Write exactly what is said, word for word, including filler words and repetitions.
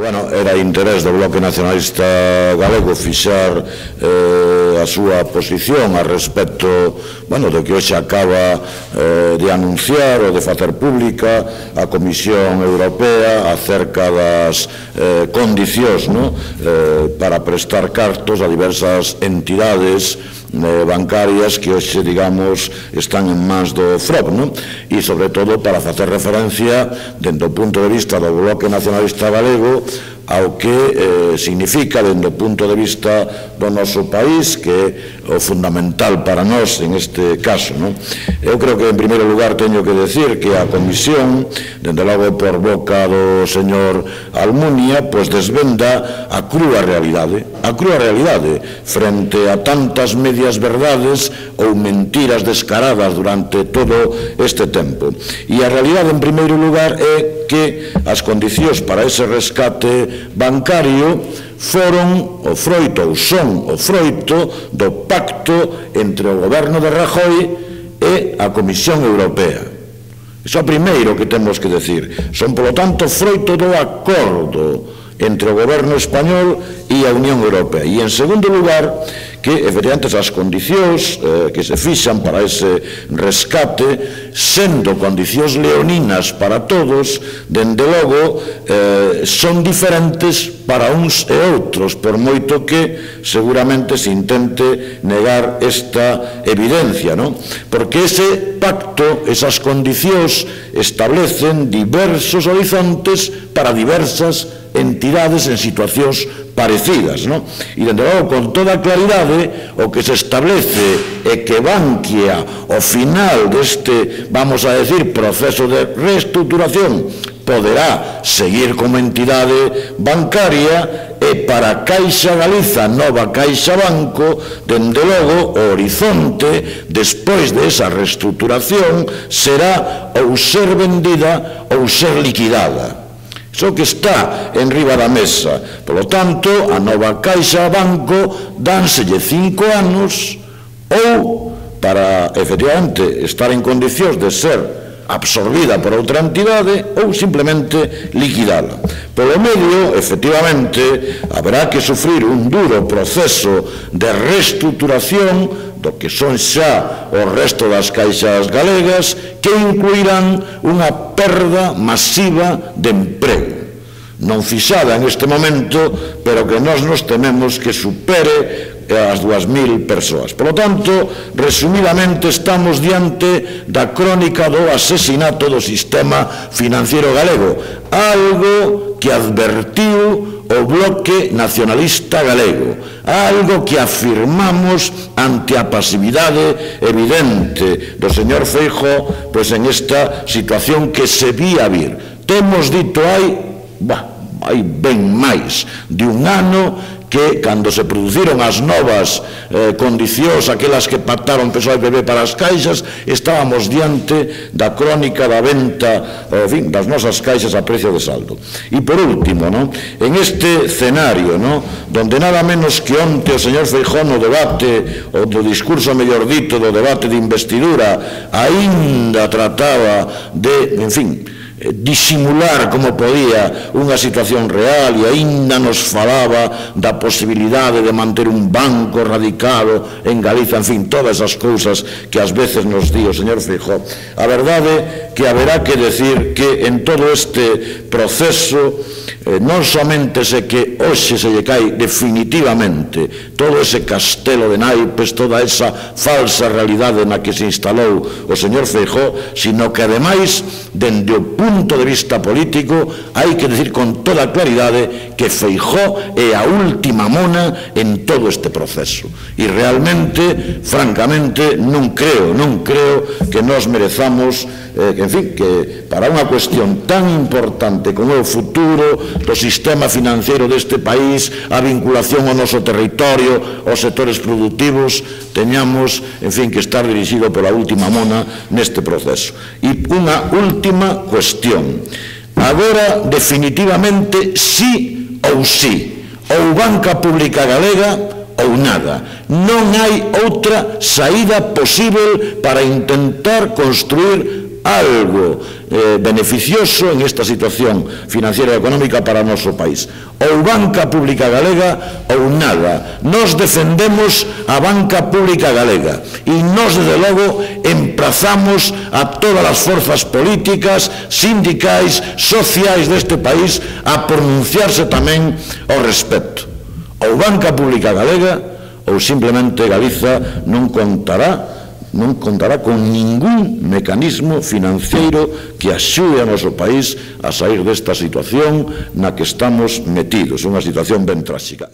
Bueno, era interés do Bloque Nacionalista Galego fixar eh, a súa posición a respecto, bueno, do que hoxe acaba eh, de anunciar ou de facer pública a Comisión Europea acerca das eh, condicións, no? eh, para prestar cartos a diversas entidades eh, bancarias que hoxe, digamos, están en mans do F R O B, no? E, sobre todo, para facer referencia, dentro do punto de vista do Bloque Nacionalista Galego, ao que eh, significa, dentro do punto de vista do noso país, que é o fundamental para nós en este caso, no? Eu creo que, en primeiro lugar, teño que decir que a Comisión, dende logo por boca do señor Almunia, pois desvenda a crúa realidade, a crúa realidade, frente a tantas medias verdades ou mentiras descaradas durante todo este tempo. E a realidade, en primeiro lugar, é que as condicións para ese rescate bancario foron o froito ou son o froito do pacto entre o goberno de Rajoy e a Comisión Europea. Iso é o primeiro que temos que decir. Son, polo tanto, froito do acordo entre o goberno español e a Unión Europea. E, en segundo lugar, que, efectivamente, as condicións eh, que se fixan para ese rescate, sendo condicións leoninas para todos, dende logo, eh, son diferentes para uns e outros, por moito que seguramente se intente negar esta evidencia, non? Porque ese pacto, esas condicións, establecen diversos horizontes para diversas entidades en situacións parecidas, non? E, dende logo, con toda claridade, o que se establece é que Bankia, ao final deste, vamos a decir, proceso de reestruturación, poderá seguir como entidade bancaria e para Caixa Galiza, nova Caixa Banco, dende logo, o horizonte, despois de esa reestruturación, será ou ser vendida ou ser liquidada. Iso que está en riba da mesa. Por lo tanto, a nova Caixa Banco dánselle cinco anos ou para, efectivamente, estar en condicións de ser absorbida por outra entidade ou simplemente liquidada. Polo medio, efectivamente, haberá que sufrir un duro proceso de reestruturación do que son xa o resto das caixas galegas, que incluirán unha perda masiva de emprego, non fixada en este momento, pero que nós nos tememos que supere as dúas mil persoas. Por lo tanto, resumidamente, estamos diante da crónica do asesinato do sistema financiero galego, algo que advertiu o Bloque Nacionalista Galego, algo que afirmamos ante a pasividade evidente do señor Feijóo, pois en esta situación que se vía vir. Temos dito hai, bah, hai ben máis de un ano que, cando se produciron as novas eh, condicións, aquelas que pactaron P S O E e P P para as caixas, estábamos diante da crónica da venta, en fin, das nosas caixas a precio de saldo. E, por último, no, en este escenario, no, donde nada menos que onte o señor Feijóo no debate, ou do discurso, mellor dito, do debate de investidura, aínda trataba de, en fin, disimular como podía unha situación real e aínda nos falaba da posibilidade de manter un banco radicado en Galiza, en fin, todas as cousas que ás veces nos di o señor Feijóo. A verdade que haberá que decir que en todo este proceso eh, non somente se que hoxe se lle cae definitivamente todo ese castelo de naipes, toda esa falsa realidade na que se instalou o señor Feijóo, sino que ademais, dende o punto de vista político, hai que decir con toda claridade que Feijóo é a última mona en todo este proceso. E realmente, francamente, non creo, non creo que nos merezamos, eh, en fin, que para unha cuestión tan importante como o futuro do sistema financiero deste país, a vinculación ao noso territorio, aos sectores productivos, teñamos, en fin, que estar dirixido pola última mona neste proceso. E unha última cuestión. Agora, definitivamente, sí ou sí, ou banca pública galega ou nada. Non hai outra saída posible para intentar construir algo eh, beneficioso en esta situación financiera e económica para o noso país. Ou banca pública galega ou nada. Nos defendemos a banca pública galega e nos, desde logo, emprazamos a todas as forzas políticas, sindicais, sociais deste país a pronunciarse tamén ao respecto. Ou banca pública galega ou simplemente Galiza non contará non contará con ningún mecanismo financeiro que axude ao noso país a sair desta situación na que estamos metidos, unha situación ben tráxica.